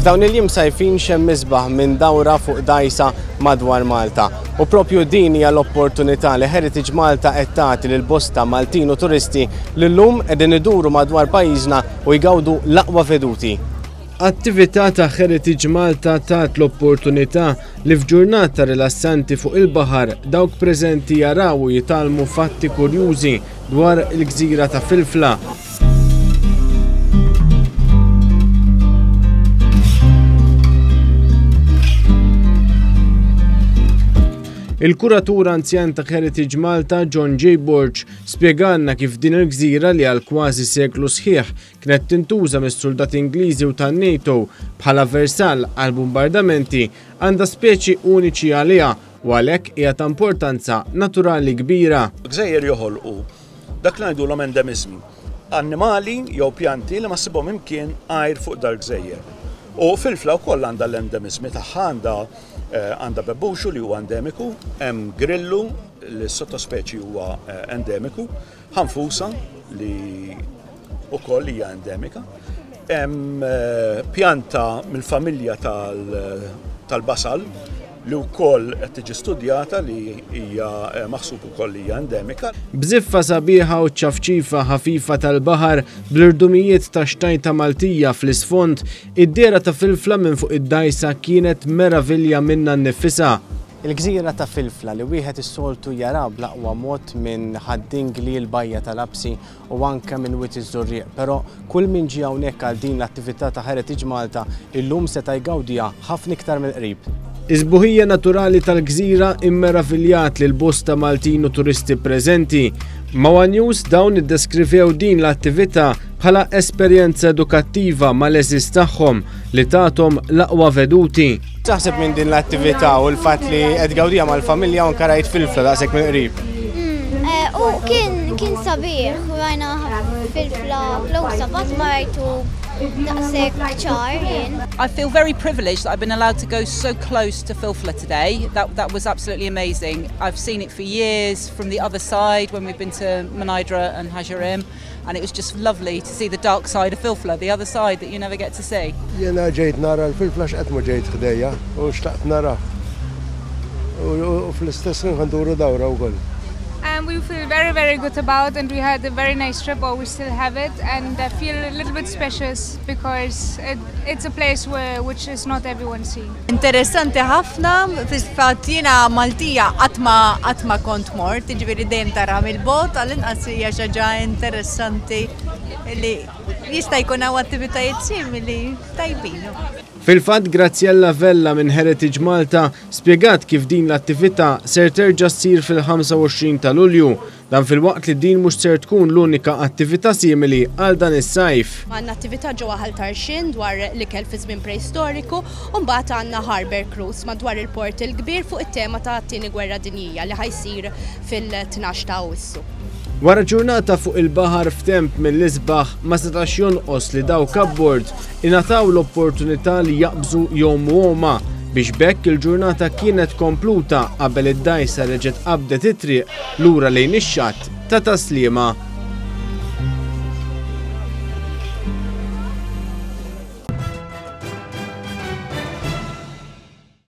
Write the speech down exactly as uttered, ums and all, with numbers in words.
F'dawn il-jiem sajfin xejn isbaħ minn dawra fuq dgħajsa madwar Malta. U propju din hija l-opportunità li Heritage Malta qed tagħti lil bosta Maltin u turisti li llum qegħdin iduru madwar pajjiżna u jgawdu l-aqwa veduti. Attività ta' Heritage Malta tat l-opportunità li f'ġurnata rilassanti fuq il-baħar dawk preżenti jaraw u jitgħallmu fatti kurjużi dwar il-gżira ta' Filfla. Il-kuratur anzjan ta' Heritage Malta, John J. Borg, spjegalna kif din il-gżira li għal kważi seklu sħiħ kienet tintuża mis-soldati Ingliżi u tan-NATO bħala versal għal bombardamenti għandha speċi uniċi għaliha u għalhekk hija ta' importanza naturali kbira. Gżejjer joħolqu dak li ngħidulhom endemiżmi, annimali jew pjanti li ma ssibhom imkien għajr fuq dal-gżejjer. U Filfla wkoll għandha l-endemiżmi tagħha, għandha għandha bebbuxu li huwa endemiku, hemm grillu li s-sottospeċi huwa endemiku, ħanfusa li wkoll hija endemika, hemm pjanta mill-familja tal-basal li wkoll qed tiġi studjata li hija maħsub ukoll li hija endemika. Bżiffa sabiħa u ċafċifa ħafifa tal-baħar bl-irdumijiet ta' xtajta Maltija fl-isfond, id-dehra ta' Filfla minn fuq id-dgħajsa kienet meravilja minna nnifisha. Il-gżira ta' Filfla li wieħed is-soltu jara bl-aqwa mod minn Ħad-Dingli, l-Bajja tal-Lapsi u anke minn Wied iż-Żurrieq, però kull min ġie hawnhekk għal din l-attività ta' Heritage Malta illum seta' jgawdiha ħafna iktar mill-qrib. Is-sbuħija naturali tal-gżira immeraviljat lil bosta Maltin u turisti preżenti. Ma' One News dawn iddeskrivew din l-attività bħala esperjenza edukattiva mal-eżis tagħhom li tathom l-aqwa veduti. Taħseb minn din l-attività u l-fatt li qed gawdija mal-familja u anke rajt Filfla daqshekk mill-qrib? U kien kien sabiħ, rajna Filfla close up, qatt ma rajtu daqshekk ċar jien. I feel very privileged that I've been allowed to go so close to Filfla today. That, that was absolutely amazing. I've seen it for years from the other side when we've been to Mnajdra and Ħaġar Qim, and it was just lovely to see the dark side of Filfla, the other side that you never get to see. Jena ġejt nara l-Filfla x'qed ma ġejt ħdejja u xtaqt nara. U fl-istess ħin nduru dawra wkoll. And we feel very, very good about, and we had a very nice trip, or we still have it, and I feel a little bit special because it, it's a place where which is not everyone see. Interessanti ħafna, fil-fatt jiena Maltija qatt ma qatt ma kont mort, jiġifieri dejjem tara mill-bogħod, għall-inqas hija xi ħaġa interessanti li jista' jkun hawn attivitajiet simili tajbin. Fil-fatt Graziella Vella minn Heritage Malta spjegat kif din l-attività ser terġa' ssir fil-ħamsa u għoxrin ta' Lulju, dan filwaqt li din mhux ser tkun l-unika attività simili għal dan is-sajf. Għandna attività ġewwa Ħal Tarxien dwar l-ikel fi żmien preistoriku u mbagħad għandna Harbour Cruise madwar il-Port il-Kbir fuq it-tema ta' tieni gwerra dinjija li ħajsir fil-tnax ta' Awwissu. Wara ġurnata fuq il-baħar f'temp mill-isbaħ ma setax jonqos li dawk abbord ingħataw l-opportunità li jaqbżu jgħumu għoma biex b'hekk il-ġurnata kienet kompluta qabel id-dgħajsa reġgħet qabdet it-triq lura lejn ix-xatt ta' Taslima.